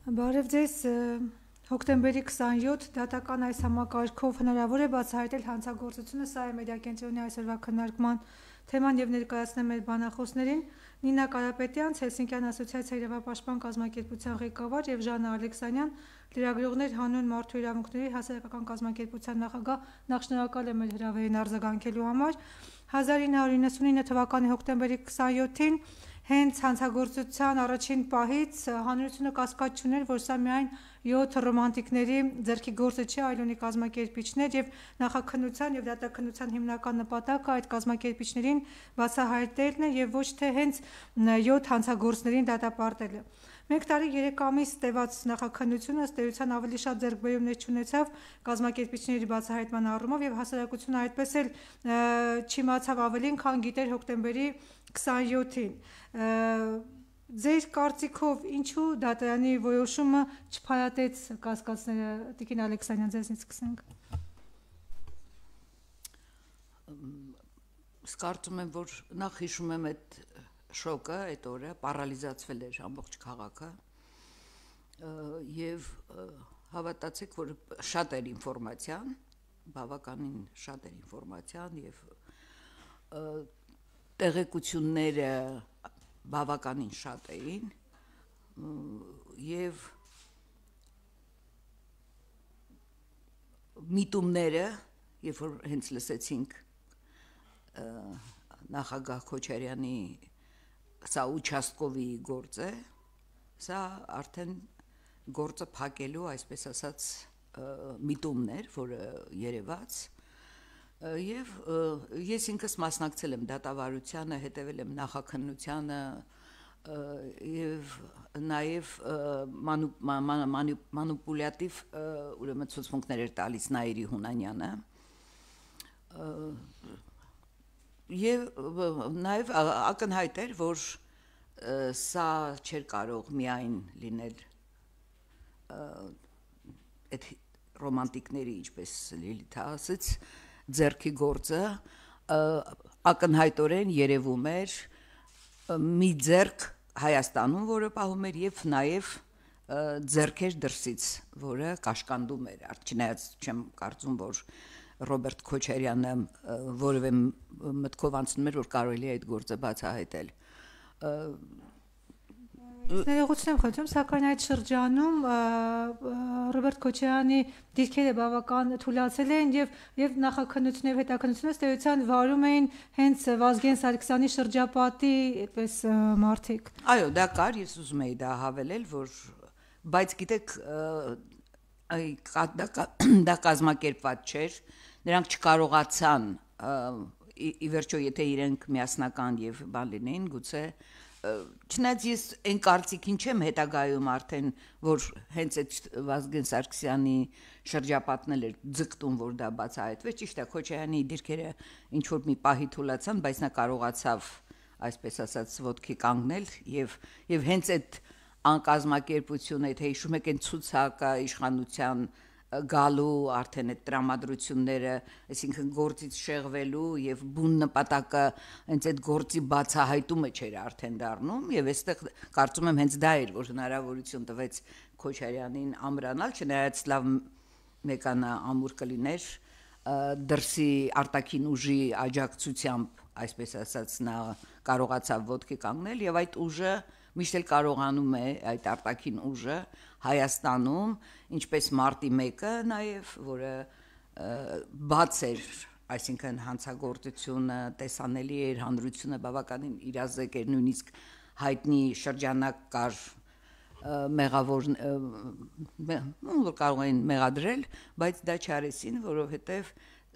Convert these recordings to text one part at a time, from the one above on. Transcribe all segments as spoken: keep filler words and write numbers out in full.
Բարև ձեզ, հոկտեմբերի քսանյոթ դատական այս համակարգով հնարավոր է բացահայտել հանցագործությունը, սա է մեդիա կենտրոնի այսօրվա քննարկման թեման եւ ներկայացնեմ մեր բանախոսներին Նինա Կարապետյան, Հելսինկյան ասոցիացիայի իրավապաշտպան կազմակերպության ղեկավար եւ Ժաննա Ալեքսանյան, լրագրողներ հանուն մարդու իրավունքների հասարակական կազմակերպության նախագահ, նախ շնորհակալ եմ մեր հրավերին արձագանքելու համար։ հազար ինը հարյուր իննսունինը թվականի հոկտեմբերի քսանյոթին հենց հանցագործության առաջին պահից հանրությունը կասկած չուներ, որ սա միայն յոթ ռոմանտիկների ձեռքի գործը չէ, այլ ունի կազմակերպիչներ եւ նախաքննության եւ դատաքննության հիմնական նպատակը այդ կազմակերպիչներին բացահայտելն է եւ ոչ թե հենց յոթ հանցագործներին դատապարտելը։ Մեկ տարի երեք ամիս տևած նախաքննությունը ըստ էության ավելի շատ ձեռքբերումներ չունեցավ կազմակերպիչների բացահայտման առումով եւ հասարակությունը այդպես էլ չիմացավ ավելին, քան գիտեր հոկտեմբերի քսանյոթին։ Ձեր կարծիքով ինչու դատարանի որոշումը չփայատեց կասկածները, Տիկին Ալեքսանյան, ձեզնից սկսենք։ Կարծում եմ, որ նախ հիշում եմ այդ շոկը, այդ օրը պարալիզացվել էր ամբողջ քաղաքը եւ հավատացեք, որ շատ էր ինֆորմացիան, բավականին շատ էր ինֆորմացիան եւ տեղեկությունները բավականին շատ էին եւ միտումները, երբ որ հենց լսեցինք նախագահ Քոչարյանի սա ուչաստկովի գործ է, սա արդեն գործը փակելու, այսպես ասած, միտումներ, որը երևաց եւ ես ինքս մասնակցել եմ դատավարությանը, հետևել եմ նախաքննությանը եւ նաեւ մանիպուլյատիվ ուրեմն ցուցմունքներ էր տալիս Նաիրի Հունանյանը եւ նաեւ ակնհայտ էր, որ սա չէր կարող միայն լինել այդ ռոմանտիկների, ինչպես Լիլիթը ասաց, ձեռքի գործը, ակնհայտորեն երևում էր մի ձեռք Հայաստանում, որը պահում էր եւ նաեւ ձեռքեր դրսից, որը կաշկանդում էր, չնայած չեմ կարծում, որ Ռոբերտ Քոչարյանը որևէ մտքով անցնում էր, որ կարելի է այդ գործը բացահայտել։ Ներողություն եմ խնդրում, սակայն այդ շրջանում Ռոբերտ Քոչարյանի դիրքերը բավական թուլացել են եւ եւ նախաքննությունը եւ հետաքննությունը ստեյության վարում էին հենց Վազգեն Սարգսյանի շրջապատի այդպես մարդիկ։ Այո, դա կար, ես ուզում էի դա հավելել, որ բայց գիտեք դա կազմակերպված չէր, նրանք չկարողացան ի վերջո եթե իրենք միասնական եւ բան լինեին, գուցե չնայած ես այն կարծիքին չեմ հետագայում արդեն, որ հենց այդ Վազգեն Սարգսյանի շրջապատն էր ձգտում, որ դա բացահայտվեց, ճիշտ է, Քոչարյանի դիրքերը ինչ որ մի պահի թուլացան, բայց նա կարողացավ, այսպես ասած, ոտքի կանգնել եւ եւ հենց այդ անկազմակերպությունը, եթե հիշում եք, այն ցուցակը իշխանության գալու արդեն այդ տրամադրությունները, այսինքն գործից շեղվելու եւ բուն նպատակը հենց այդ գործի բացահայտումը չէր արդեն դառնում եւ այստեղ կարծում եմ հենց դա էր, որ հնարավորություն տվեց Քոչարյանին ամրանալ, չնայած լավ մեկանը ամուր կլիներ դրսի արտաքին ուժի աջակցությամբ, այսպես ասած, նա կարողացավ ոտքի կանգնել եւ այդ ուժը միշտ էլ կարողանում է այդ արտաքին ուժը Հայաստանում, ինչպես մարտի մեկը նաև, որը բաց էր, այսինքն հանցագործությունը տեսանելի էր, հանրությունը բավականին իրազեկ էր, նույնիսկ հայտնի շրջանակ կար մեղավոր, որ կարող էին մեղադրել, բայց դա չարեցին, որովհետև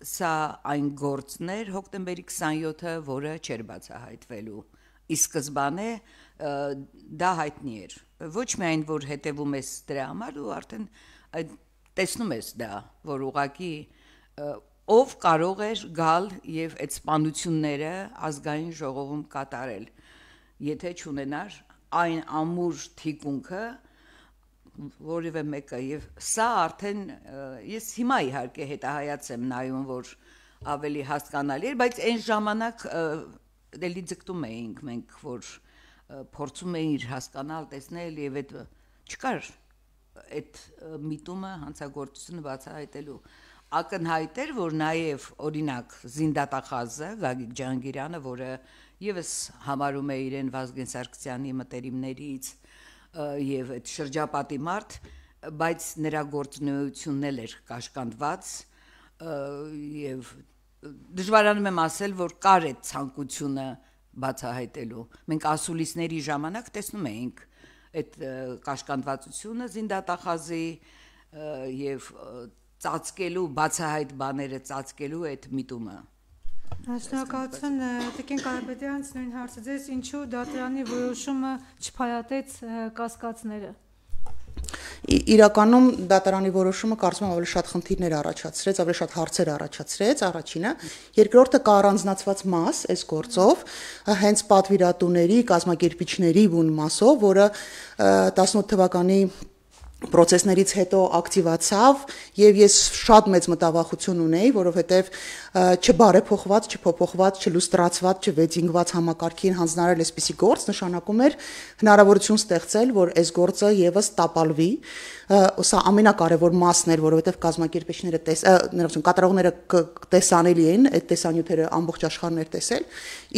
սա այն գործն էր հոկտեմբերի քսանյոթը, որը չէր բացահայտվելու։ Ի սկզբանե դա հայտնի էր, ոչ միայն որ հետևում ես դրա համար, ու արդեն տեսնում ես դա, որ ուղղակի ով կարող էր գալ եւ այդ սպանությունները ազգային ժողովում կատարել, եթե չունենար այն ամուր թիկունքը, որևէ մեկը, եւ սա արդեն ես հիմա իհարկե հետահայաց եմ նայում, որ ավելի հասկանալի էր, բայց այն ժամանակ դելի ձգտում էինք մենք, որ փորձում էինք հասկանալ, տեսնել եւ այդ չկար այդ միտումը հանցագործությունը բացահայտելու։ Ակնհայտ էր, որ նաև օրինակ Զինդատախազը Գագիկ Ջահանգիրյանը, որը եւս համարում է իրեն Վազգեն Սարգսյանի մտերիմներից եւ այդ շրջապատի մարդ, բայց նրա գործունեությունն էլ էր կաշկանդված եւ դժվարանում եմ ասել, որ կար այդ ցանկությունը բացահայտելու։ Մենք ասուլիսների ժամանակ տեսնում էինք այդ կաշկանդվածությունը Զինդատախազի եւ ծածկելու բացահայտ բաները ծածկելու այդ միտումը։ Շնորհակալություն Տիկին Կարապետյանց, նույն հարցը ձեզ, ինչու դատարանի որոշումը չփայատեց կասկածները։ Իրականում դատարանի որոշումը կարծում եմ ավելի շատ խնդիրներ առաջացրեց, ավելի շատ հարցեր առաջացրեց, առաջինը, երկրորդը կա առանձնացված մաս այս գործով, հենց պատվիրատուների, կազմակերպիչների բուն մասով, որը տասնութ թվականի procesներից հետո ակտիվացավ եւ ես շատ մեծ մտավախություն ունեի, որովհետեւ չբարեփոխված, չփոփոխված, չլուստրացված, չվեջինգված համակարգին հանձնարարել այսպիսի գործ նշանակում էր հնարավորություն ստեղծել, որ այս գործը եւս տապալվի, սա ամենակարևոր մասն էր, որովհետեւ կազմակերպիչները տես, ներողություն, կատարողները տեսանելի էին, այդ տեսանյութերը ամբողջ աշխարհն էր տեսել,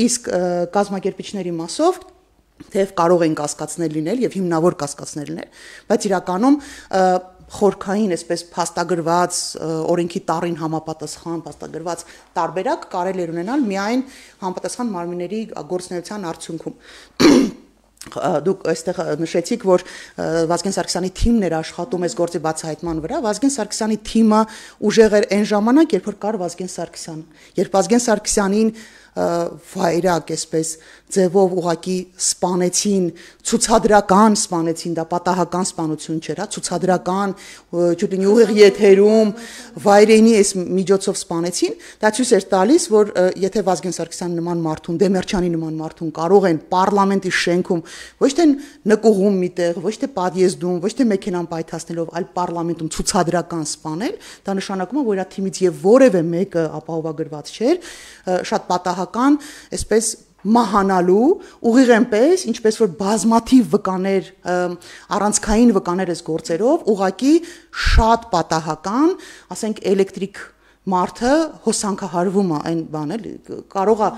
իսկ կազմակերպիչների մասով թեև կարող են կասկածներ լինել եւ հիմնավոր կասկածներ լինել, բայց իրականում խորքային, այսպես փաստագրված օրենքի տառին համապատասխան փաստագրված տարբերակ կարելի էր ունենալ միայն համապատասխան մարմինների գործունեության արդյունքում։ Դուք այստեղ նշեցիք, որ Վազգեն Սարգսյանի թիմն էր աշխատում այս գործի բացահայտման վրա, Վազգեն Սարգսյանի թիմը ուժեղ էր այն ժամանակ, երբ որ կար Վազգեն Սարգսյանը, երբ Վազգեն Սարգսյանին վայրակ այսպես ձևով ուղակի սպանեցին, ցուցադրական սպանեցին, դա պատահական սպանություն չէր, հա, ցուցադրական ճուտի ուղիղ եթերում վայրենի այս միջոցով սպանեցին, դա ցույց էր տալիս, որ եթե Վազգեն Սարգսյանի նման մարդուն, Դեմիրճյանի նման մարդուն կարող են պարլամենտի շենքում ոչ թե նկուղում միտեղ, ոչ թե պատիեզդում, ոչ թե մեքենան պայթացնելով, այլ պարլամենտում ցուցադրական սպանել, դա նշանակում է, որ իր թիմից եւ որևէ մեկը ապահովագրված չէր, շատ պատահական, այսպես մահանալու ուղիղ այնպես, ինչպես որ բազմաթիվ վկաներ, առանցքային վկաներ այս գործերով, ուղակի շատ պատահական, ասենք էլեկտրիկ մարդը հոսանքահարվում է այն բանը, կարող է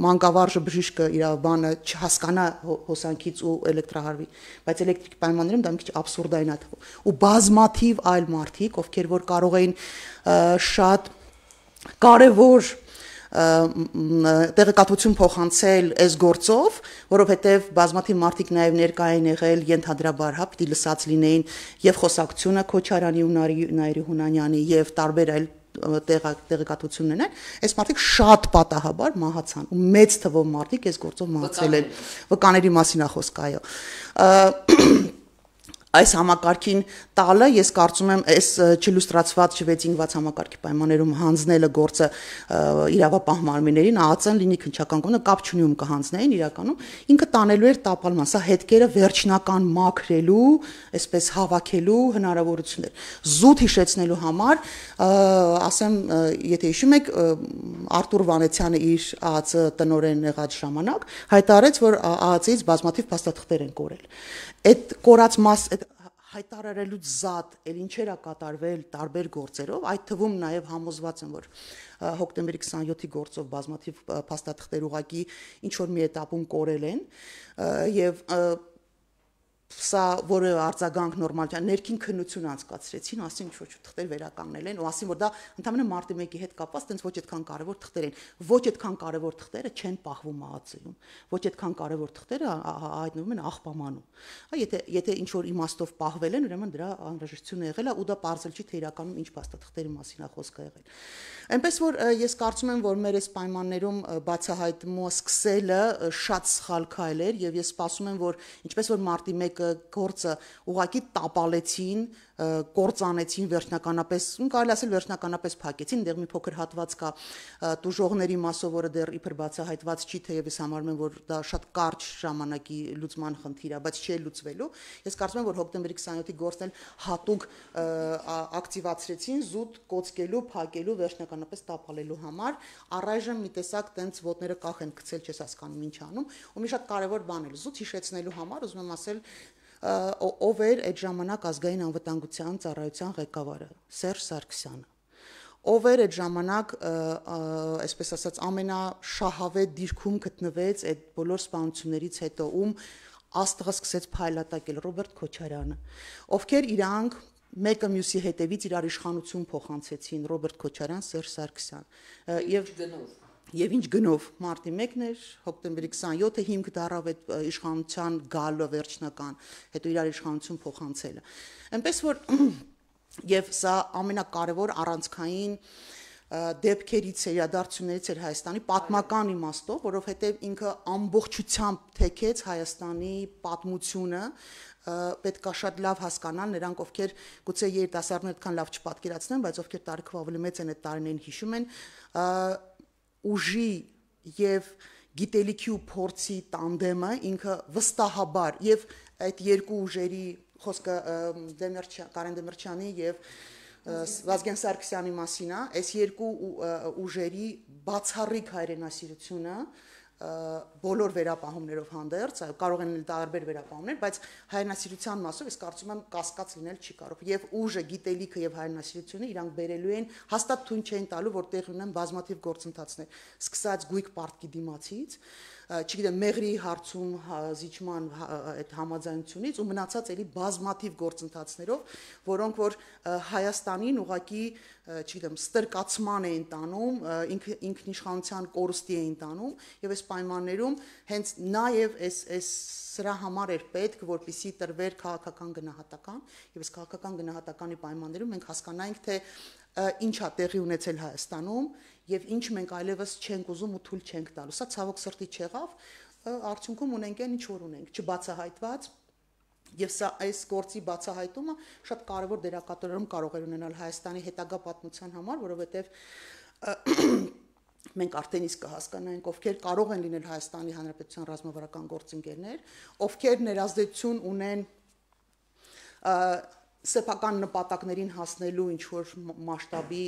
մանկավարժը բժիշկը իր բանը չհասկանա հոսանքից ու էլեկտրահարվի, բայց էլեկտրիկ պայմաններում դա մի քիչ աբսուրդային է թվում։ Ու բազմաթիվ այլ մարդիկ, ովքեր որ կարող էին շատ կարևոր տեղեկատվություն փոխանցել այս գործով, որովհետև բազմաթիվ մարդիկ նաև ներկայ են եղել ենթադրաբար, հա, պիտի լսած լինեին եւ խոսակցությունը Քոչարյանի ու Նայիրի Հունանյանի եւ տարբեր այլ տեղեկատվություն ունեն, այս մարդիկ շատ պատահաբար մահացան ու մեծ թվով մարդիկ այս գործով մահացել են, վկաների մասին է խոսքը, այո։ Այս համակարգին տալը, ես կարծում եմ, այս չլուստրացված, չվեջինգված համակարգի պայմաններում հանձնելը գործը իրավապահ մարմիններին, ԱԱԾ-ն լինի քննչական կողմը կապ չունի ում կհանձնեին իրականում, ինքը տանելու էր տապալման, սա հետքերը վերջնական մաքրելու, այսպես հավաքելու հնարավորություն էր։ Զուտ հիշեցնելու համար, ասեմ, եթե հիշում եք, Արտուր Վանեցյանը իր ԱԱԾ տնօրեն եղած ժամանակ հայտարարեց, որ ԱԱԾ-ից բազմաթիվ փաստաթղթեր են կորել։ Այդ կորած մաս հայտարարելուց զատ էլ ինչեր է կատարվել տարբեր գործերով, այդ թվում նաև համոզված եմ, որ հոկտեմբերի քսաներկուի գործով բազմաթիվ փաստաթղթեր ուղղակի ինչ որ մի էտապում կորել են եւ սա որը արձագանք նորմալ չէ, ներքին քննություն անցկացրեցին, ասին ինչ որ թղթեր վերականգնել են, ու ասին որ դա ընդհանրապես մարտի մեկի հետ կապված տենց ոչ այդքան կարևոր թղթեր են, ոչ այդքան կարևոր թղթերը չեն պահվում ԱԱԾ-ում, ոչ այդքան կարևոր թղթերը հայտնվում են աղբամանում։ Հա, եթե եթե ինչ որ իմաստով պահվել են, ուրեմն դրա անհրաժեշտությունը եղել է ու դա պարզել չի թե իրականում ինչ փաստաթղթերի մասին է խոսքը եղել։ Այնպես որ ես կարծում եմ, որ մեր այս պայմաններում բացահայտումը սկսելը շատ սխալ քայլ էր եւ ես սպասում եմ, որ ինչպես որ մարտի մեկը գործը ուղակի տապալեցին, կործանեցին վերջնականապես, կարելի ասել վերջնականապես փակեցին, դեռ մի փոքր հատված կա տուժողների մասով, որը դեռ իբր բացահայտված չի, թեև ես համարում եմ, որ դա շատ կարճ ժամանակի լուծման խնդիր է, բայց չի լուծվելու։ Ես կարծում եմ, որ հոկտեմբերի քսաներկուի գործն էլ հատուկ ակտիվացրեցին զուտ կոծկելու, փակելու, վերջնականապես տապալելու համար, առայժմ մի տեսակ տենց ոտները կախ են գցել, չես հասկանում ինչ անում, ու մի շատ կարևոր բան էլ զուտ հիշեցնելու համար ուզում եմ ասել ով էր այդ ժամանակ ազգային անվտանգության ծառայության ղեկավարը, Սերժ Սարգսյանը։ Ով էր այդ ժամանակ, այսպես ասած, ամենաշահավետ դիրքում գտնվեց այդ բոլոր սպանություններից հետո, ում աստղը սկսեց փայլատակել, Ռոբերտ Քոչարյանը, ովքեր իրանք մեկը մյուսի հետևից իրար իշխանություն փոխանցեցին, Ռոբերտ Քոչարյան, Սերժ Սարգսյան, եւ Եվ ինչ գնով մարտի մեկն էր, հոկտեմբերի քսանյոթը հիմք դառավ այդ իշխանության գալը վերջնական, հետո իրար իշխանություն փոխանցելը։ Այնպես որ եւ սա ամենակարևոր առանցքային դեպքերից է, իրադարձություններից էր Հայաստանի պատմական իմաստով, որովհետեւ ինքը ամբողջությամբ թեքեց Հայաստանի պատմությունը, պետք է շատ լավ հասկանալ նրանք, ովքեր գուցե երիտասարդները այդքան լավ չպատկերացնեն, բայց ովքեր տարիքով ավելի մեծ են այդ տարիներին հիշում են, ուժի եւ գիտելիքի ու փորձի տանդեմը ինքը վստահաբար եւ այդ երկու ուժերի խոսքը Կարեն Դեմիրճյանի եւ Վազգեն Սարգսյանի մասին է, այս երկու ուժերի բացառիկ հայրենասիրությունը բոլոր վերապահումներով հանդերձ, կարող են լինել տարբեր վերապահումներ, բայց հայրենասիրության մասով ես կարծում եմ կասկած լինել չի կարող։ Եվ ուժը, գիտելիքը եւ հայրենասիրությունը իրանք բերելու են, հաստատ թույն չէին տալու, որ տեղ ունեն բազմաթիվ գործընթացներ, սկսած գույք պարտքի դիմացից, չգիտեմ, Մեղրի հարցում զիջման այդ համաձայնությունից ու մնացած էլի բազմաթիվ գործընթացներով, որոնք որ Հայաստանին ուղղակի, չգիտեմ, ստրկացման էին տանում, ինքնիշխանության կորստի էին տանում եւ այս պայմաններում հենց նաեւ այս այս սրա համար էր պետք, որպեսզի տրվեր քաղաքական գնահատական եւ այս քաղաքական գնահատականի պայմաններում մենք հասկանայինք, թե ինչ է տեղի ունեցել Հայաստանում եւ ինչ մենք այլևս չենք ուզում ու թույլ չենք տալու։ Սա ցավոք սրտի չեղավ, արդյունքում ունենք այն ինչ որ ունենք, չբացահայտված եւ սա այս գործի բացահայտումը շատ կարեւոր դերակատարում կարող է ունենալ Հայաստանի հետագա պատմության համար, որովհետեւ մենք արդեն իսկ կհասկանանք, ովքեր կարող են լինել Հայաստանի Հանրապետության ռազմավարական գործընկերներ, ովքեր ներազդեցություն ունեն սեփական նպատակներին հասնելու ինչ որ մասշտաբի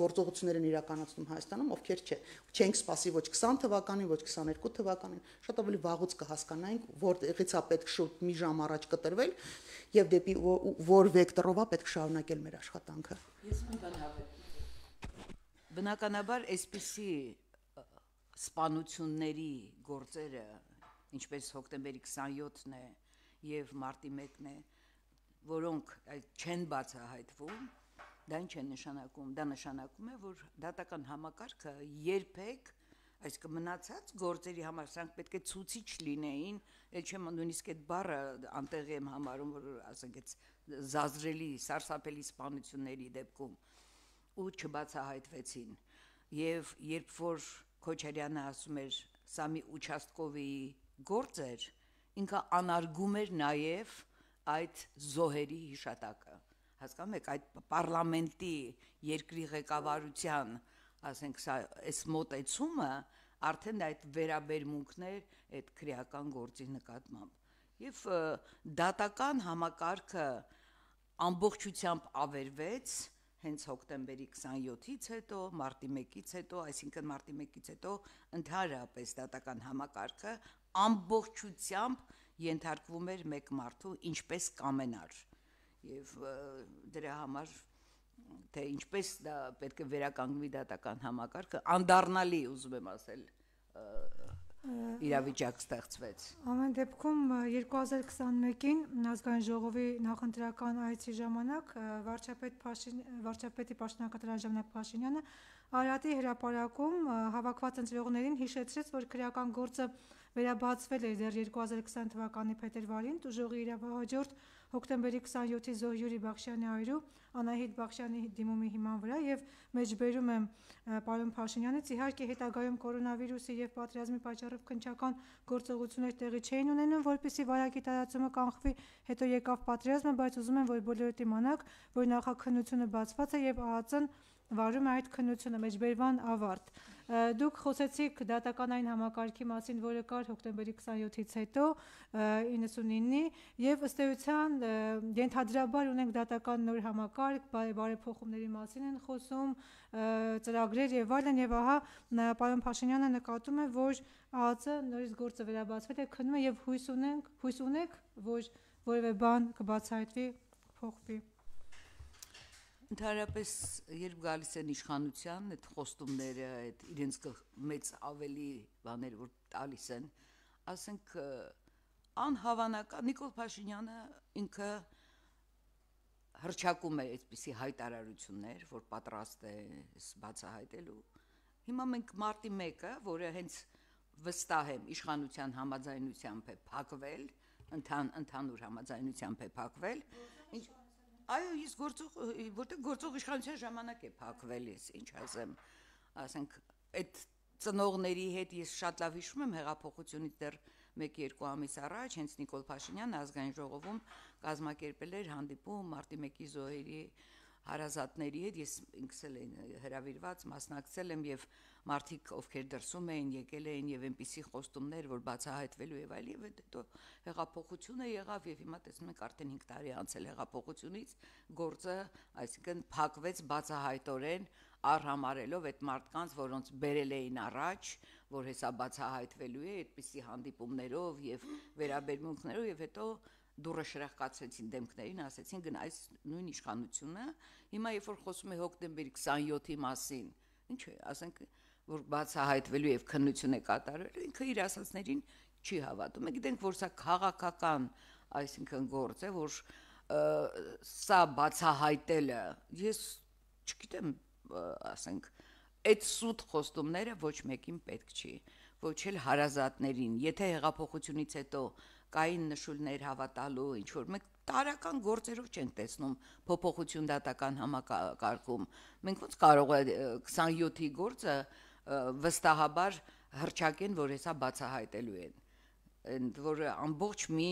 գործողություններ են իրականացնում Հայաստանում, ովքեր չէ, չենք սպասի ոչ քսան թվականին, ոչ քսաներկու թվականին, շատ ավելի վաղուց կհասկանանք, որտեղից է պետք շուտ մի ժամ առաջ կտրվել եւ դեպի որ վեկտորով է պետք շարունակել մեր աշխատանքը։ Ես մի բան հավեմ։ Բնականաբար այսպիսի սպանությունների գործերը, ինչպես հոկտեմբերի քսանյոթն է եւ մարտի մեկն է, որոնք չեն բացահայտվում, դա ինչ է նշանակում, դա նշանակում է, որ դատական համակարգը երբեք, այսինքն մնացած գործերի համար սրանք պետք է ցուցիչ լինեին, էլ չեմ նույնիսկ այդ բառը անտեղի եմ համարում, որ ասենք այդ զազրելի, սարսափելի սպանությունների դեպքում ու չբացահայտվեցին։ Եվ երբ որ Քոչարյանը ասում էր, սա մի ուչաստկովի գործ էր, ինքը անարգում էր նաև այդ զոհերի հիշատակը։ Հասկանում եք, այդ պարլամենտի երկրի ղեկավարության, ասենք, սա այս մոտեցումը արդեն այդ վերաբերմունքներ այդ քրեական գործի նկատմամբ։ Եվ դատական համակարգը ամբողջությամբ ավերվեց հենց հոկտեմբերի քսանյոթից հետո, մարտի մեկից հետո, այսինքն մարտի մեկից հետո ընդհանրապես դատական համակարգը ամբողջությամբ ենթարկվում էր մեկ մարդու, ինչպես կամենար։ Եվ դրա համար թե ինչպես դա պետք է վերականգնվի դատական համակարգը, անդառնալի ուզում եմ ասել իրավիճակ ստեղծվեց։ Ամեն դեպքում երկու հազար քսանմեկին ազգային ժողովի նախընտրական այցի ժամանակ վարչապետ վարչապետի պաշտոնակատար ժամանակ Փաշինյանը Արարատի հրապարակում հավաքված ընտրողներին հիշեցրեց, որ քրեական գործը վերաբացվել էր դեռ երկու հազար քսան թվականի փետրվարին տուժողի իրավահաջորդ հոկտեմբերի քսանյոթի զոհ Յուրի Բախշյանի այրու Անահիտ Բախշյանի դիմումի հիման վրա եւ մեջբերում եմ պարոն Փաշինյանից, իհարկե հետագայում կորոնավիրուսի եւ պատերազմի պատճառով քննչական գործողություններ տեղի չէին ունենում, որպեսզի վարակի տարածումը կանխվի, հետո եկավ պատերազմը, բայց ուզում եմ, որ բոլորդ իմանաք, որ նախաքննությունը բացված է եւ ԱԱԾ-ն վարում է այդ քննությունը, մեջբերման ավարտ։ Դուք խոսեցիք դատականային համակարգի մասին, որը կար հոկտեմբերի քսանյոթից հետո իննսունինի եւ ըստ էության ենթադրաբար ունենք դատական նոր համակարգ, բարեփոխումների մասին են խոսում, ծրագրեր եւ այլն եւ ահա պարոն Փաշինյանը նկատում է, որ ԱԱԾ նորից գործը վերաբացվել է, քննում է եւ հույս ունենք, հույս ունեք, որ որևէ բան կբացահայտվի, փոխվի։ Ընդհանրապես, երբ գալիս են իշխանության, այդ խոստումները, այդ իրենց մեծ ավելի բաներ, որ տալիս են, ասենք անհավանական Նիկոլ Փաշինյանը ինքը հրճակում է այդպիսի հայտարարություններ, որ պատրաստ է բացահայտելու։ Հիմա մենք մարտի մեկը, որը հենց վստահ եմ իշխանության համաձայնությամբ է փակվել, ընթան ընդհանուր համաձայնությամբ է փակվել, ինչ այո, ես գործող, որտեղ գործող իշխանության ժամանակ է փակվել, ես ինչ ասեմ, ասենք, այդ ծնողների հետ ես շատ լավ հիշում եմ հեղափոխությունից դեռ մեկ-երկու ամիս առաջ, հենց Նիկոլ Փաշինյանը ազգային ժողովում կազմակերպել էր հանդիպում մարտի մեկի զոհերի հարազատների հետ, ես ինքս էլ հրավիրված մասնակցել եմ եւ մարդիկ ովքեր դրսում էին եկել էին եւ այնպիսի խոստումներ, որ բացահայտվելու եւ այլ եւ հետո հեղափոխությունը եղավ եւ հիմա տեսնում եք արդեն հինգ տարի անցել հեղափոխությունից, գործը, այսինքն փակվեց բացահայտորեն առհամարելով այդ մարդկանց, որոնց բերել էին առաջ, որ հեսա բացահայտվելու է այդպիսի հանդիպումներով եւ վերաբերմունքներով եւ հետո դուրը շրախկացրեցին դեմքներին, ասեցին գնա այս նույն իշխանությունը, հիմա երբ որ խոսում է հոկտեմբերի քսանյոթի մասին, ինչ է, ասենք, որ բացահայտվելու եւ քննություն է կատարվելու, ինքը իր ասածներին չի հավատում։ Մենք գիտենք, որ սա քաղաքական, այսինքն գործ է, որ սա բացահայտելը, ես չգիտեմ, ասենք, այդ սուտ խոստումները ոչ մեկին պետք չի, ոչ էլ հարազատներին, եթե հեղափոխությունից հետո կային նշույլներ հավատալու, ինչ որ մենք տարական գործերով չենք տեսնում փոփոխություն դատական համակարգում։ Մենք ոնց կարող է քսանյոթի գործը վստահաբար հրճակեն, որ հեսա բացահայտելու են, ընդ որ ամբողջ մի,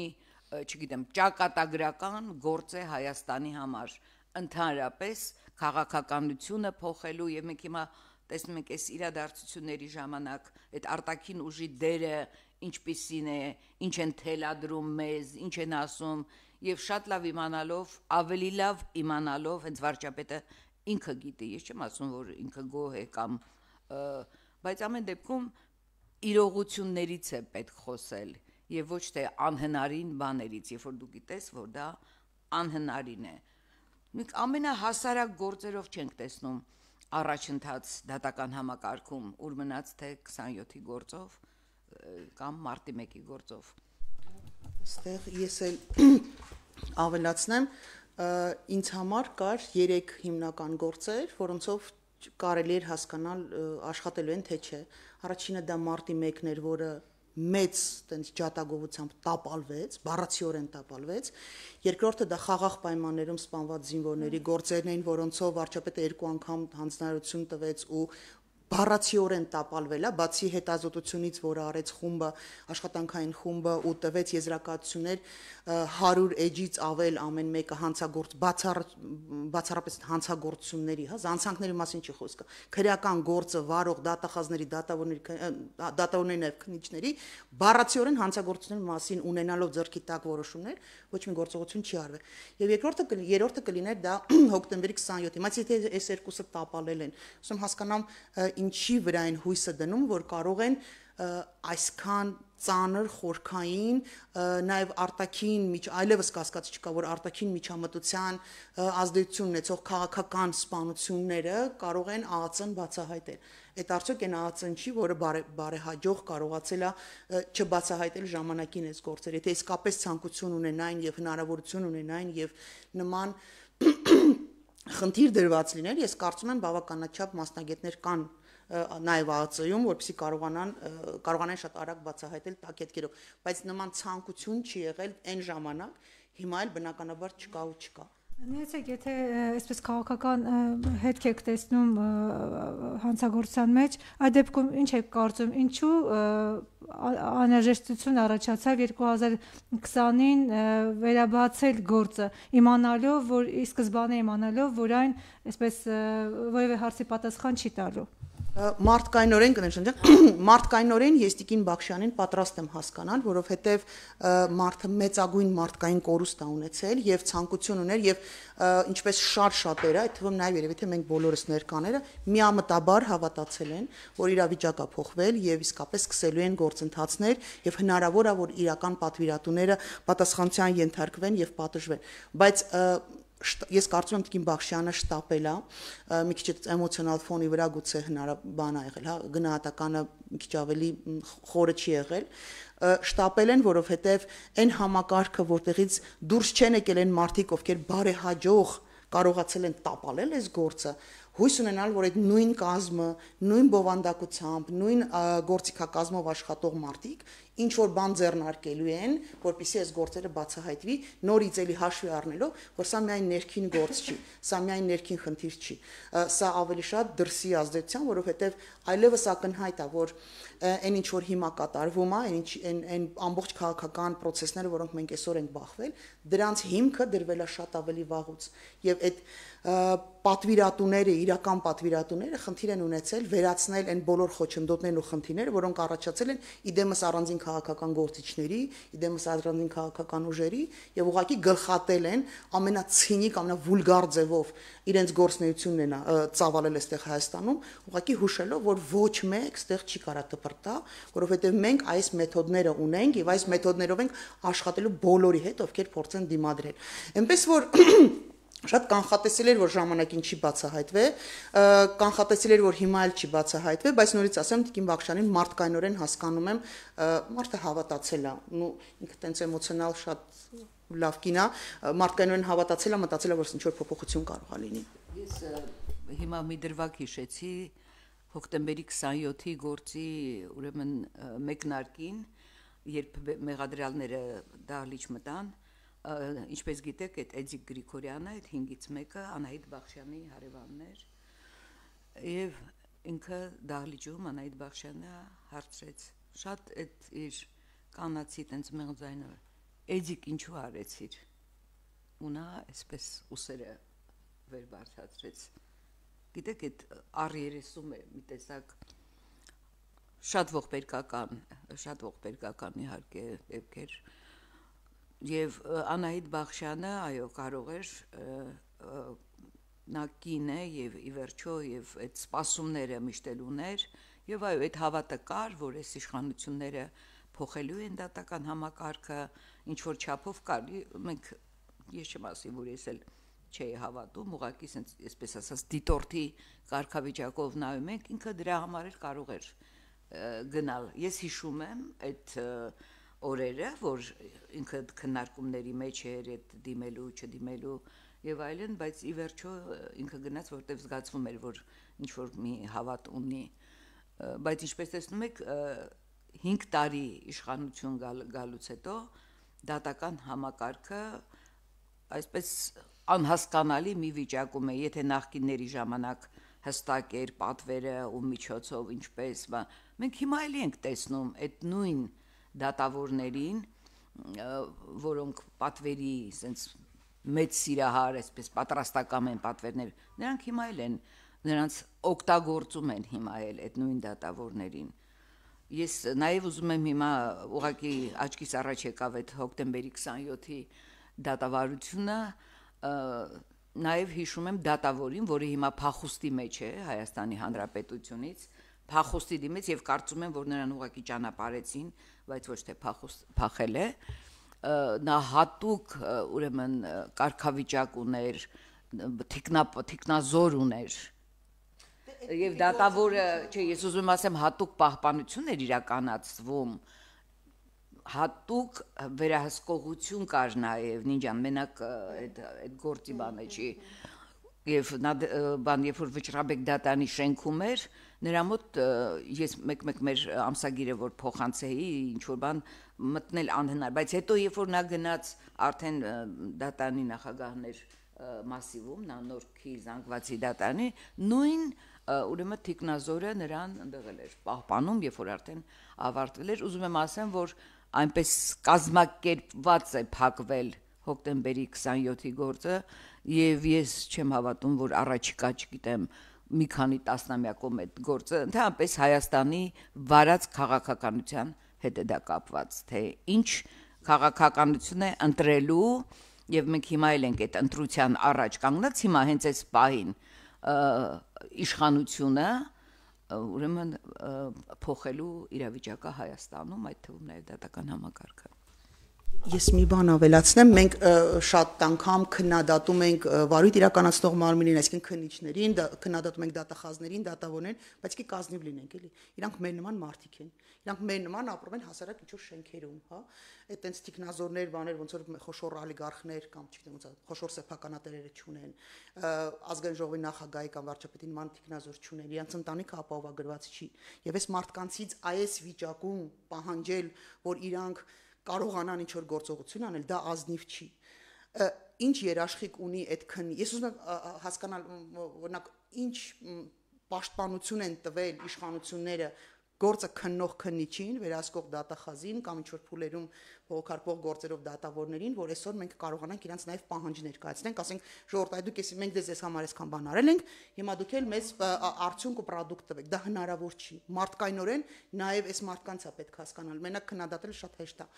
չգիտեմ, ճակատագրական գործ է Հայաստանի համար, ընդհանրապես քաղաքականությունը փոխելու եւ մենք հիմա տեսնում ենք այս իրադարձությունների ժամանակ այդ արտաքին ուժի դերը ինչպիսին է, ինչ են թելադրում մեզ, ինչ են ասում եւ շատ լավ իմանալով, ավելի լավ իմանալով, հենց վարչապետը ինքը գիտի, ես չեմ ասում, որ ինքը գոհ է կամ բայց ամեն դեպքում իրողություններից է պետք խոսել եւ ոչ թե անհնարին բաներից, երբ որ դու գիտես, որ դա անհնարին է։ Մենք ամենահասարակ գործերով չենք տեսնում առաջընթաց դատական համակարգում, ուր մնաց թե քսանյոթի գործով կամ մարտի մեկի գործով։ Այստեղ ես էլ ավելացնեմ, ինձ համար կար երեք հիմնական գործեր, որոնցով կարելի էր հասկանալ աշխատելու են թե չէ։ Առաջինը դա մարտի մեկն էր, որը մեծ տենց ջատագովությամբ տապալվեց, բառացիորեն տապալվեց։ Երկրորդը դա խաղաղ պայմաններում սպանված զինվորների գործերն էին, որոնցով վարչապետը երկու անգամ հանձնարարություն տվեց ու բառացիորեն տապալվել է, բացի հետազոտությունից, որը արեց խումբը, աշխատանքային խումբը ու տվեց եզրակացություններ հարյուր էջից ավել ամեն մեկը հանցագործ բացառապես հանցագործությունների, հա, զանցանքների մասին չի խոսքը, քրեական գործը վարող դատախազների, դատավորների, դատավորների նաև քննիչների բառացիորեն հանցագործությունների մասին ունենալով ձեռքի տակ որոշումներ, ոչ մի գործողություն չի արվել։ Եվ երկրորդը երրորդը կլիներ դա հոկտեմբերի քսանյոթի, բայց եթե այս երկուսը տապալել են, ասում հասկանամ ինչի վրա են հույսը դնում, որ կարող են այսքան ծանր խորքային, նաև արտաքին միջ այլևս կասկած չկա, որ արտաքին միջամտության ազդեցություն ունեցող քաղաքական սպանությունները կարող են ԱԱՑ-ն բացահայտել։ Այդ արդյոք այն ԱԱՑ-ն չի, որը բարեհաջող կարողացել է չբացահայտել ժամանակին այս գործերը։ Եթե իսկապես ցանկություն ունենային եւ հնարավորություն ունենային եւ նման խնդիր դրված լիներ, ես կարծում եմ բավականաչափ մասնագետներ կան նաև ԱԱՑ-ում, որպեսզի կարողանան կարողանան շատ արագ բացահայտել տակետքերով, բայց նման ցանկություն չի եղել այն ժամանակ, հիմա էլ բնականաբար չկա ու չկա։ Նայեցեք, եթե այսպես քաղաքական հետք եք տեսնում հանցագործության մեջ, այդ դեպքում ինչ եք կարծում, ինչու անհրաժեշտություն առաջացավ երկու հազար քսանին վերաբացել գործը, իմանալով, որ ի սկզբանե իմանալով, որ այն այսպես որևէ հարցի պատասխան չի տալու։ Մարդկայնորեն կներշնչեմ, մարդկայնորեն ես Տիկին Բախշյանին պատրաստ եմ հասկանալ, որովհետև մարդը մեծագույն մարդկային կորուստ է ունեցել եւ ցանկություն ուներ եւ ինչպես շատ շատերը, այդ թվում նաեւ երևի թե մենք բոլորս ներկաները միամտաբար հավատացել են, որ իրավիճակը փոխվել եւ իսկապես սկսելու են գործընթացներ եւ հնարավոր է որ իրական պատվիրատուները պատասխանատվության ենթարկվեն եւ պատժվեն, բայց ես կարծում եմ Տիկին Բախշյանը շտապել է, մի քիչ էմոցիոնալ ֆոնի վրա գուցե հնարաբան ա եղել, հա, գնահատականը մի քիչ ավելի խորը չի եղել, շտապել են, որովհետև այն համակարգը, որտեղից դուրս չեն եկել են մարդիկ, ովքեր բարեհաջող կարողացել են տապալել այս գործը, հույս ունենալ, որ այդ նույն կազմը, նույն բովանդակությամբ, նույն գործիքակազմով աշխատող մարդիկ ինչ որ բան ձեռնարկելու են, որպեսզի այս գործերը բացահայտվի, նորից էլի հաշվի առնելով, որ սա միայն ներքին գործ չի, սա միայն ներքին խնդիր չի, սա ավելի շատ դրսի ազդեցության, որովհետև այլևս ակնհայտ է, որ այն ինչ որ հիմա կատարվում է, այն այն այն ամբողջ քաղաքական process-ները, որոնք մենք այսօր ենք բախվել, դրանց հիմքը դրվել է շատ ավելի վաղուց, եւ այդ պատվիրատուները, իրական պատվիրատուները խնդիր են ունեցել վերացնել այն բոլոր խոչընդոտներն ու խնդիրները, որոնք առաջացել են իդեմս առանձին քաղաքական գործիչների, իդեմս առանձին քաղաքական ուժերի եւ ուղղակի գլխատել են ամենացինիկ, ամենավուլգար ձևով իրենց գործնեությունն են ծավալել այստեղ Հայաստանում, ուղղակի հուշելով, որ ոչ մեկ այստեղ չի կարա դպրտա, որովհետեւ մենք այս մեթոդները ունենք եւ այս մեթոդներով ենք աշխատելու բոլորի հետ, ովքեր փորձեն դիմադրել։ Այնպես որ շատ կանխատեսել էր, որ ժամանակին չի բացահայտվի, կանխատեսել էր, որ հիմա էլ չի բացահայտվի, բայց նորից ասեմ, Տիկին Բախշյանին մարդկայնորեն հասկանում եմ, մարդը հավատացել է, ու ինքը տենց էմոցիոնալ շատ լավ կին է, մարդկայնորեն հավատացել է, մտածել է, որ ինչ որ փոփոխություն կարող է լինի։ Ես հիմա մի դրվագ հիշեցի հոկտեմբերի քսանյոթի գործի, ուրեմն մեկնարկին, երբ մեղադրյալները դահլիճ մտան, ինչպես գիտեք, այդ Էդիկ Գրիգորյանը, այդ հինգից մեկը Անահիտ Բախշյանի հարևանն էր, եւ ինքը դահլիճում Անահիտ Բախշյանը հարցրեց, շատ այդ իր կանացի տենց մեղձայնը, Էդիկ ինչու արեցիր, ու նա այսպես ուսերը վեր բարձրացրեց, գիտեք, այդ առ երեսում է մի տեսակ շատ ողբերգական, շատ ողբերգական իհարկե դեպքեր. Եվ Անահիտ Բախշյանը, այո, կարող էր նա կին է եւ ի վերջո եւ այդ սպասումները միշտ էլ ուներ եւ այո, այդ հավատը կար, որ այս իշխանությունները փոխելու են դատական համակարգը, ինչ որ չափով կար, մենք ես չեմ ասի, որ ես էլ չէի հավատում, ուղղակի այսպես ասած դիտորդի կարգավիճակով նայում ենք, ինքը դրա համար էլ կարող էր գնալ։ Ես հիշում եմ այդ օրերը, որ ինքը քննարկումների մեջ էր այդ դիմելու, չդիմելու եւ այլն, բայց ի վերջո ինքը գնաց, որտեղ զգացվում էր, որ ինչ որ մի հավատ ունի, բայց ինչպես տեսնում եք, հինգ տարի իշխանություն գալուց հետո դատական համակարգը այսպես անհասկանալի մի վիճակում է, եթե նախկինների ժամանակ հստակ էր պատվերը ու միջոցով ինչպես, մենք հիմա էլ ենք տեսնում այդ նույն դատավորներին, որոնք պատվերի sense մեծ սիրահար, այսպես պատրաստական են պատվերներ, նրանք հիմա էլ են, նրանց օգտագործում են հիմա էլ այդ նույն դատավորներին։ Ես նաև ուզում եմ հիմա ուղղակի աչքիս առաջ եկավ այդ հոկտեմբերի քսանյոթի դատավարությունը, նաև հիշում եմ դատավորին, որը հիմա փախուստի մեջ է Հայաստանի Հանրապետությունից, փախուստի դիմից եւ կարծում եմ, որ նրան ուղղակի ճանապարհեցին, բայց ոչ թե փախել է, նա հատուկ ուրեմն կարգավիճակ ուներ, թիկնազոր ուներ եւ դատավորը, չէ, ես ուզում եմ ասեմ, հատուկ պահպանություն էր իրականացվում, հատուկ վերահսկողություն կար նաեւ, նինջան մենակ այդ այդ գործի բանը չի եւ նա բան երբ որ Վճռաբեկ դատանի շենքում էր, նրա մոտ ես մեկ-մեկ մեր ամսագիրը որ փոխանցեի, ինչ որ բան մտնել անհնար, բայց հետո երբ որ նա գնաց արդեն դատանի նախագահներ մասիվում, նա Նորքի զանգվածի դատանի, նույն ուրեմն թիկնազորը նրան ընդեղել էր պահպանում, երբ որ արդեն ավարտվել էր, ուզում եմ ասեմ, որ այնպես կազմակերպված է փակվել հոկտեմբերի քսանյոթի գործը եւ ես չեմ հավատում, որ առաջիկա, չգիտեմ, մի քանի տասնամյակում այդ գործը ընդհանրապես Հայաստանի վարած քաղաքականության հետ է դա կապված, թե ինչ քաղաքականություն է ընտրելու եւ մենք հիմա էլ ենք այդ ընտրության առաջ կանգնած, հիմա հենց այս պահին իշխանությունը ուրեմն փոխելու իրավիճակը Հայաստանում, այդ թվում նաեւ դատական համակարգը։ Ես մի բան ավելացնեմ, մենք շատ անգամ քննադատում ենք վարույթ իրականացնող մարմինին, այսինքն քննիչներին, քննադատում ենք դատախազներին, դատավորներին, բայց ի կազնիվ լինենք, էլի։ Իրանք մեր նման մարդիկ են։ Իրանք մեր նման ապրում են հասարակ ինչ-որ շենքերում, հա։ Այդ տենց տիկնազորներ, բաներ, ոնց որ խոշոր օլիգարխներ կամ չգիտեմ ոնց, խոշոր սեփականատերերը չունեն, ազգային ժողովի նախագահի կամ վարչապետի նման տիկնազոր չունեն, իրանք ընտանիքը ապահովագրված չի։ Եվ այս մարդկանցից այս վիճակում պահանջել, որ իրանք կարողանան ինչ-որ գործողություն անել, դա ազնիվ չի։ Ինչ երաշխիք ունի այդ քննի։ Ես ուզում եմ հասկանալ, օրինակ, ինչ պաշտպանություն են տվել իշխանությունները գործը քննող քննիչին, վերահսկող դատախազին կամ ինչ-որ փուլերում փոխարկող գործերով դատավորներին, որ այսօր մենք կարողանանք իրենց նաև պահանջ ներկայացնենք, ասենք ժողովուրդ, այ դուք էս մենք դες ես համար այսքան բան արել ենք, հիմա դուք էլ մեզ արդյունք ու պրոդուկտ տվեք։ Դա հնարավոր չի։ Մարդկայնորեն նաև այս մարդկանց է պետք հասկանալ։ Մենակ քննադատելը շատ հեշտ է։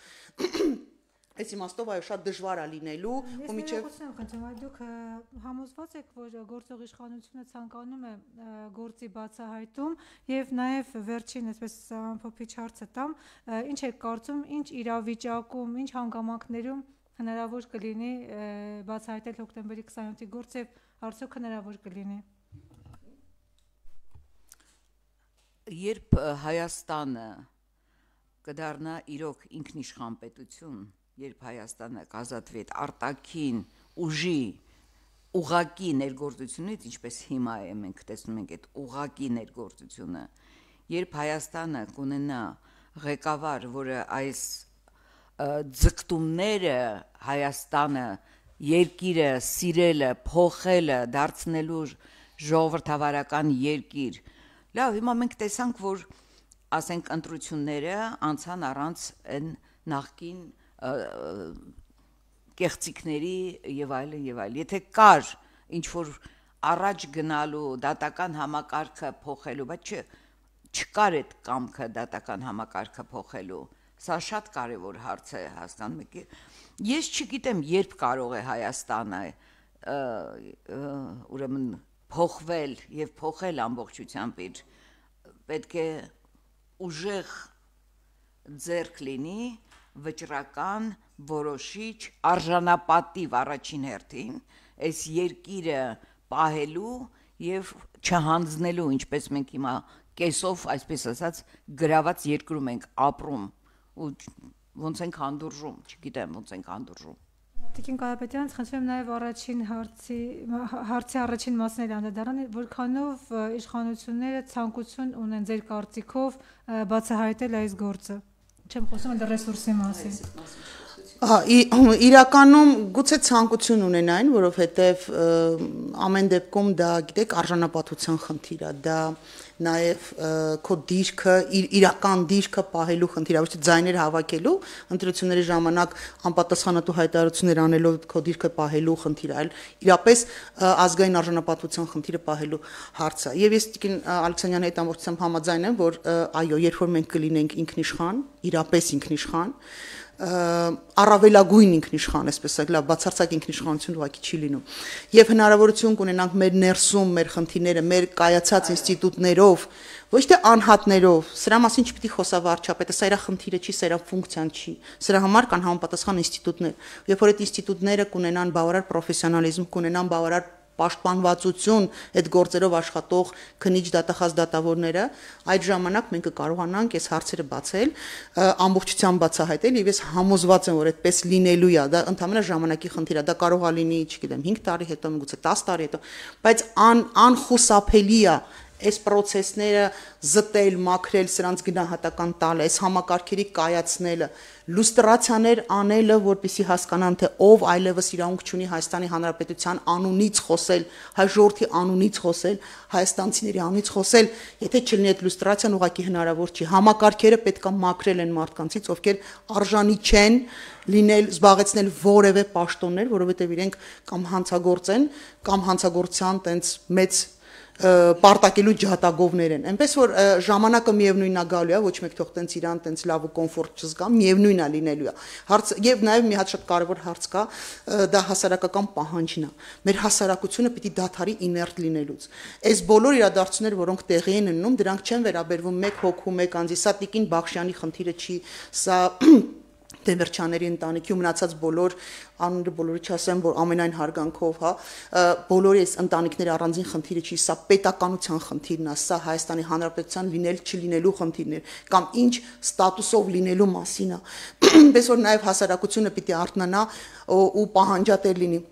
Այս իմաստով այո շատ դժվար է լինելու ու միջև Ես խնդրում եմ, դուք համոզված եք, որ գործող իշխանությունը ցանկանում է գործի բացահայտում եւ նաեւ վերջին այսպես ամփոփիչ հարցը տամ, ինչ եք կարծում, ինչ իրավիճակում, ինչ հանգամանքներում հնարավոր կլինի բացահայտել հոկտեմբերի քսանյոթի գործը եւ արդյոք հնարավոր կլինի։ Երբ Հայաստանը կդառնա իրոք ինքնիշխան պետություն, երբ Հայաստանը կազատվի այդ արտաքին ուժի ուղակի ներգործությունից, ինչպես հիմա է մենք տեսնում ենք այդ ուղակի ներգործությունը, երբ Հայաստանը կունենա ղեկավար, որը այս ձգտումները Հայաստանը երկիրը սիրելը, փոխելը, դարձնելու ժողովրդավարական երկիր, լավ, հիմա մենք տեսանք, որ ասենք ընտրությունները անցան առանց այն նախկին կեղծիքների եւ այլն եւ այլն։ Եթե կար ինչ որ առաջ գնալու դատական համակարգը փոխելու, բայց չկար այդ կամքը դատական համակարգը փոխելու, սա շատ կարևոր հարց է, հասկանում եք։ Ես չգիտեմ, երբ կարող է Հայաստանը ուրեմն փոխվել եւ փոխել ամբողջությամբ իր, պետք է ուժեղ ձեռք լինի վճռական, որոշիչ, արժանապատիվ առաջին հերթին այս երկիրը պահելու եւ չհանձնելու, ինչպես մենք հիմա կեսով, այսպես ասած, գրաված երկրում ենք ապրում ու ոնց ենք հանդուրժում, չգիտեմ, ոնց ենք հանդուրժում։ Տիկին Կարապետյան, խնդրում եմ նաև առաջին հարցի հարցի առաջին մասն էլ անդրադառնալ, որքանով իշխանությունները ցանկություն ունեն ձեր կարծիքով բացահայտել այս գործը։ Չեմ խոսում այլ ռեսուրսի մասին։ Իրականում գուցե ցանկություն ունենային, որովհետև ամեն դեպքում դա, գիտեք, արժանապատվության խնդիր է, դա նաև քո դիրքը, իրական դիրքը պահելու խնդիր է, ոչ թե ձայներ հավաքելու, ընտրությունների ժամանակ անպատասխանատու հայտարարություններ անելով քո դիրքը պահելու խնդիր է, այլ իրապես ազգային արժանապատվության խնդիրը պահելու հարց է։ Եվ ես Տիկին Ալեքսանյանի հետ ամբողջությամբ համաձայն եմ, որ այո, երբ որ մենք կլինենք ինքնիշխան, իրապես ինքնիշխան, առավելագույն ինքնիշխան, այսպես ասած, լավ, բացարձակ ինքնիշխանություն ուղղակի չի լինում։ Եվ հնարավորություն կունենանք մեր ներսում, մեր խնդիրները, մեր կայացած ինստիտուտներով, ոչ թե անհատներով, սրա մասին չպիտի խոսա վարչապետը, սա իր խնդիրը չի, սա իր ֆունկցիան չի։ Սրա համար կան համապատասխան ինստիտուտներ։ Երբ որ այդ ինստիտուտները կունենան բավարար պրոֆեսիոնալիզմ, կունենան բավարար պաշտպանվածություն այդ գործերով աշխատող քննիչ դատախազ դատավորները, այդ ժամանակ մենք կկարողանանք այս հարցերը բացել, ամբողջությամբ բացահայտել եւ ես համոզված եմ, որ այդպես լինելու է, դա ընդհանրապես ժամանակի խնդիր է, դա կարող է լինի, չգիտեմ, հինգ տարի հետո, միգուցե տասը տարի հետո, բայց ան անխուսափելի է այս process-ները զտել, մաքրել, սրանց գնահատական տալ, այս համակարգերի կայացնելը, լուստրացիաներ անելը, որպեսզի հասկանան, թե ով այլևս իրավունք չունի Հայաստանի Հանրապետության անունից խոսել, հայ ժողովրդի անունից խոսել, հայաստանցիների անունից խոսել, եթե չլինի այդ լուստրացիան, ուղղակի հնարավոր չի։ Համակարգերը պետք է մաքրել են մարդկանցից, ովքեր արժանի չեն լինել, զբաղեցնել որևէ պաշտոններ, որովհետև իրենք կամ հանցագործ են, կամ հանցագործության տենց մեծ պարտակելու ջատագովներ են։ Այնպես որ ժամանակը միևնույնն է գալու է, ոչ մեկ թող տենց իրան տենց լավ ու կոմֆորտ չզգա, միևնույնն է լինելու է։ Հարց եւ նաեւ մի հատ շատ կարեւոր հարց կա, դա հասարակական պահանջն է։ Մեր հասարակությունը պիտի դադարի իներտ լինելուց։ Այս բոլոր իրադարձությունները, որոնք տեղի են ունենում, դրանք չեն վերաբերվում մեկ հոգու, մեկ անձի, սա Տիկին Բախշյանի խնդիրը չի, սա Դեմիրճյանների ընտանիքի ու մնացած բոլոր անունը բոլորի չասեմ, որ ամենայն հարգանքով, հա, բոլորի այս ընտանիքների առանձին խնդիրը չի, սա պետականության խնդիրն է, սա Հայաստանի Հանրապետության լինել չլինելու խնդիրն է, կամ ինչ ստատուսով լինելու մասին է։ Այնպես որ նաև հասարակությունը պիտի արթնանա ու պահանջատեր լինի։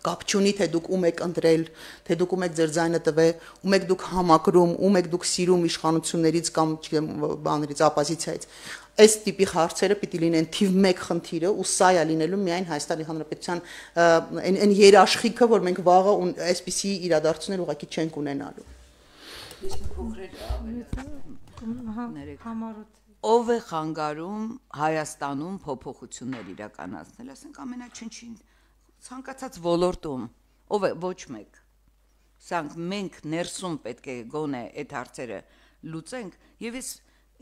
Կապ չունի, թե դուք ում եք ընտրել, թե դուք ում եք ձեր ձայնը տվել, ում եք դուք համակրում, ում եք դուք սիրում իշխանություններից կամ չգիտեմ բաներից, ապոզիցիայից։ Այս տիպի հարցերը պիտի լինեն թիվ մեկ խնդիրը ու սա է լինելու միայն Հայաստանի Հանրապետության այն երաշխիքը, որ մենք վաղը այսպիսի իրադարձություններ ուղղակի չենք ունենալու։ Ով է խանգարում Հայաստանում փոփոխություններ իրականացնել, ասենք ամենաչնչին ցանկացած ոլորտում, ով է ոչ մեկ։ Սրանք մենք ներսում պետք է գոնե այդ հարցերը լուծենք եւ ես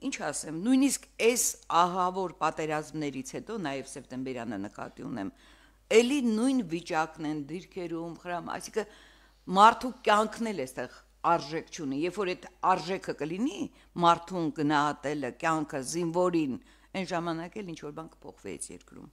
ինչ ասեմ, նույնիսկ այս ահավոր պատերազմներից հետո նաև սեպտեմբերյանը նկատի ունեմ, էլի նույն վիճակն են դիրքերում, խրամ, այսինքն մարդու կյանքն էլ էստեղ արժեք չունի, երբ որ այդ արժեքը կլինի, մարդուն գնահատելը, կյանքը, զինվորին, այն ժամանակ էլ ինչ որ բան կփոխվի այս երկրում։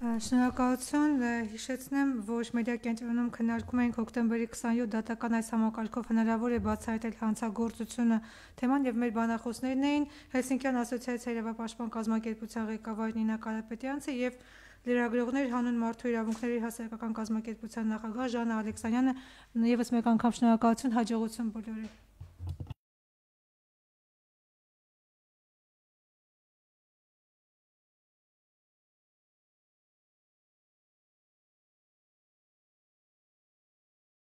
Շնորհակալություն, հիշեցնեմ, որ մեդիա կենտրոնում քննարկում ենք հոկտեմբերի քսանյոթ դատական այս համակարգով հնարավոր է բացահայտել հանցագործությունը թեման եւ մեր բանախոսներն էին Հելսինկյան ասոցիացիայի իրավապաշտպան կազմակերպության ղեկավար Նինա Կարապետյանցը եւ լրագրողներ հանուն մարդու իրավունքների հասարակական կազմակերպության նախագահ Ժաննա Ալեքսանյանը։ Եվս մեկ անգամ շնորհակալություն, հաջողություն բոլորին։